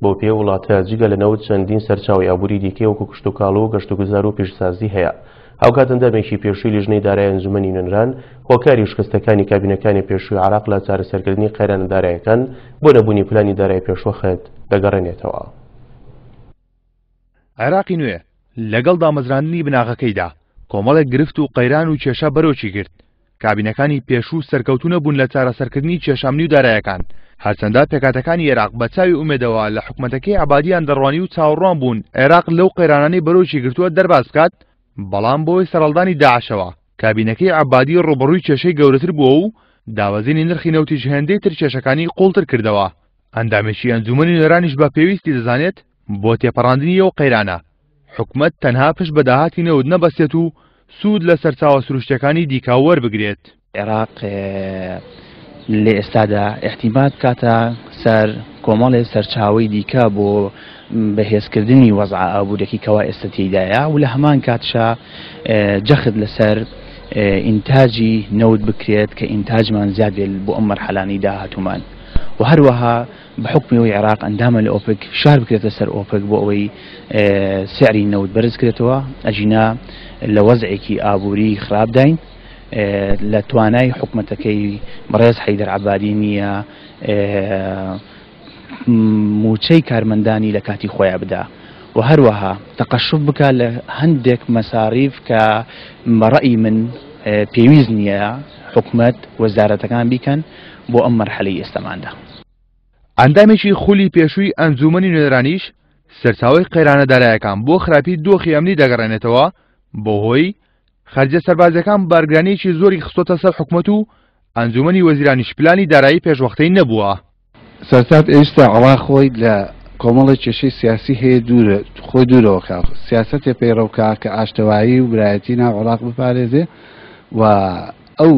بەو پێیە وڵاتە جگە لە نەوت چەندین سەرچاوەی ئابووری دیکەی وەکو کشتوکاڵ و گەشتوگوزار و پیشەسازی هەیە. هاوکات ئەندامێکی پێشووی لیژنەی دارای ئەنجومەنی نوێنەران هۆکاری شکستەکانی کابینەکانی پێشووی عێراق لە چارەسەرکردنی قەیرانە دارایەکان بۆ نەبوونی پلانی دارای پێشوەخت دەگەڕێنێتەوە. عێراقی نوێ لەگەڵ دامەزراندنی بناغەکەیدا کۆمەڵێک گرفت و قەیران و کێشە بەرۆکی گرت، کابینەکانی پێشوو سەرکەوتوو نەبوون لە چارەسەرکردنی کێشە ئەمنی و دارایەکان، هەرچەندە پێکهاتەکانی عێراق بە چاوی ئومێدەوە لە حکومەتەکەی عەبادیان دەڕوانی و چاوەڕوان بوون عێراق لەو قەیرانانەی بەرۆکی گرتووە دەرباز بکات، بەڵام بەهۆی سەرهەڵدانی داعشەوە کابینەکەی عەبادی ڕووبەڕووی کێشەی گەورەتر بووە و دابەزینی نرخی نەوتیش هێندەی تر کێشەکانی قووڵتر کردەوە. ئەندامێکی ئەنجوومەنی نوێنەرانیش بە پێویستی دەزانێت بۆ تێپەڕاندنی ئەو قەیرانە، حکومەت تەنها پشت بە داهاتی نەوت نەبەستێت و سوود لە سەرچاوە سروشتیەکانی دیکە وەربگرێت. عێراق لە ئێستادا ئیعتیماد بکاتە سەر کۆمەڵێ سەرچاوەی دیکە بۆ بەهێزکردنی وەزعە ئابووریەکەی کەوا ئێستا تێیدایە و لە هەمان کاتشا جەخت لەسەر ئینتاجی نەوت بکرێت کە ئینتاجمان زیاد بێت بۆ ئەم مەرحەلانەی داهاتوومان و هەروەها بە حوکمی ئەوەی عێراق ئەندامە لە ئۆپک فشار بکرێتە سەر ئۆپک بۆ ئەوەی سعری نەوت بەرز کرێتەوە ئەگینا لە وەزعێکی ئابووری خراپداین لە توانای حکومەتەکەی بەڕێز حەیدەر عەبادی نییە موچەی کارمەندانی لە کاتی خۆیان بدا و هەروەها تەقەشوف بکە لە هەندێک مەساریف کە بە ڕەئی من پێویست نییە حکومەت وەزارەتەکان بیکەن بۆ ئەم مەرحەلەی ئێستەماندا. ئەندامێکی خولی پێشووی ئەنجوومەنی نوێنەرانیش سەرچاوەی قەیرانە دارایەکان بۆ خراپی دۆخی ئەمنی دەگەڕێنێتەوە بەهۆی خەرجە سەربازیەکان بارگرانیەکی زۆری خستۆتە سەر حکومەت و ئەنجوومەنی وەزیرانیش پلانی دارایی پێشوەختەی نەبووە. سەرتات ئێستا عێڕاق خۆی لە کۆمەڵێک کێشەی سیاسی هەیە دوورە خۆی دوورەوە کا سیاسەتێ پەیڕەو کا کە ئاشتەوایی و برایەتی ناو عێڕاق بپارێزێ و ئەو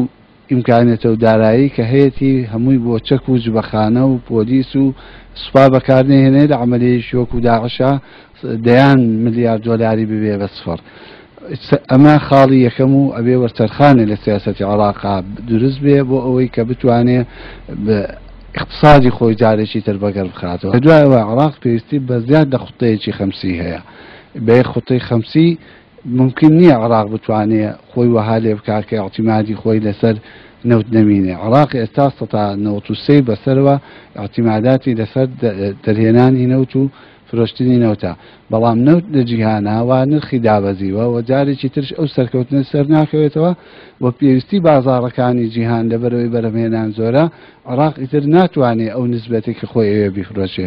ئیمکانیەتە و دارایی کە هەیەتی هەمووی بۆ چەک و جبەخانە و پۆلیس و سوپا بەکار نەهێنێ لە عەمەلیەیەکی وەکو داعشا دەیان ملیار دۆلاری ببێ بە سفر. ئەمە خاڵی یەکەم و ئەبێ وەرچەرخانێ لە سیاسەتی عێراقا دروست بێ بۆ ئەوەی کە بتوانێ ئیقتسادی خۆی جارێکی تر بەگەڕ بخاتەوە. دوای ئەوە عێراق پێویستی بە زیاد لە خوتەیەکی خەمسی هەیە. بە یەک خوتەی خەمسی مومکین نییە عێراق بتوانێ خۆی وەها لێ بکا کە ئیعتیمادی خۆی لەسەر نەوت نەمینێ. عێراق ئێستا سەتا 93 بەسەرەوە ئیعتیماداتی لەسەر دەرهێنانی نەوت و فرۆشتنی نەوتە، بەڵام نەوت لە جیهانا وا نرخی دابەزیوە و جارێکی ترش ئەو سەرکەوتنە سەرناکەوێتەوە و پێویستی بازاڕەکانی جیهان لەبەرئەوەی بەرهەمهێنان زۆرە، عێراق ئیتر ناتوانێ ئەو نسبەتەی کە خۆی ئەوێ بیفرۆشێ.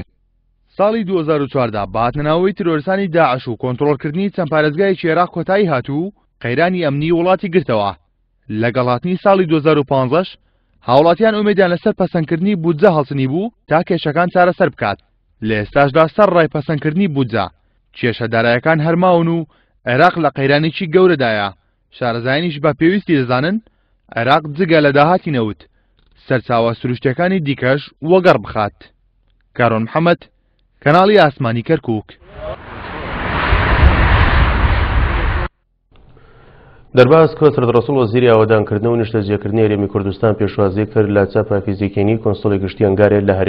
ساڵی 2014 بە هاتنەناوەوەی تیرۆرستانی داعش و کۆنترۆڵکردنی چەند پارێزگایەکی عێراق کۆتایی هات و قەیرانی ئەمنی وڵاتی گرتەوە. لەگەڵ هاتنی ساڵی 2015 هاوڵاتیان ئومێدیان لەسەر پەسەندکردنی بودجە هەڵچنیبوو تا کێشەکان چارەسەر بکات. لە ئێستاشدا سەرڕای پەسەندکردنی بودجە، کێشە دارایەکان هەر ماون و عێراق لە قەیرانێکی گەورەدایە، شارەزایانیش بە پێویستی دەزانن عێراق جگە لە داهاتی نەوت، سەرچاوە سروشتیەکانی دیکەش وەگەڕ بخات. کارۆن محەمەد، کەناڵی ئاسمانی کەرکوک. دەرباز کۆسرەت ڕەسوڵ وەزیری ئاوەدانکردن و نیشتەجێکردنی هەرێمی کوردستان پێشوازی کرد لە چاپا فیزیکینی کونسوڵی گشتی ئەنگارێ لە هەرێم.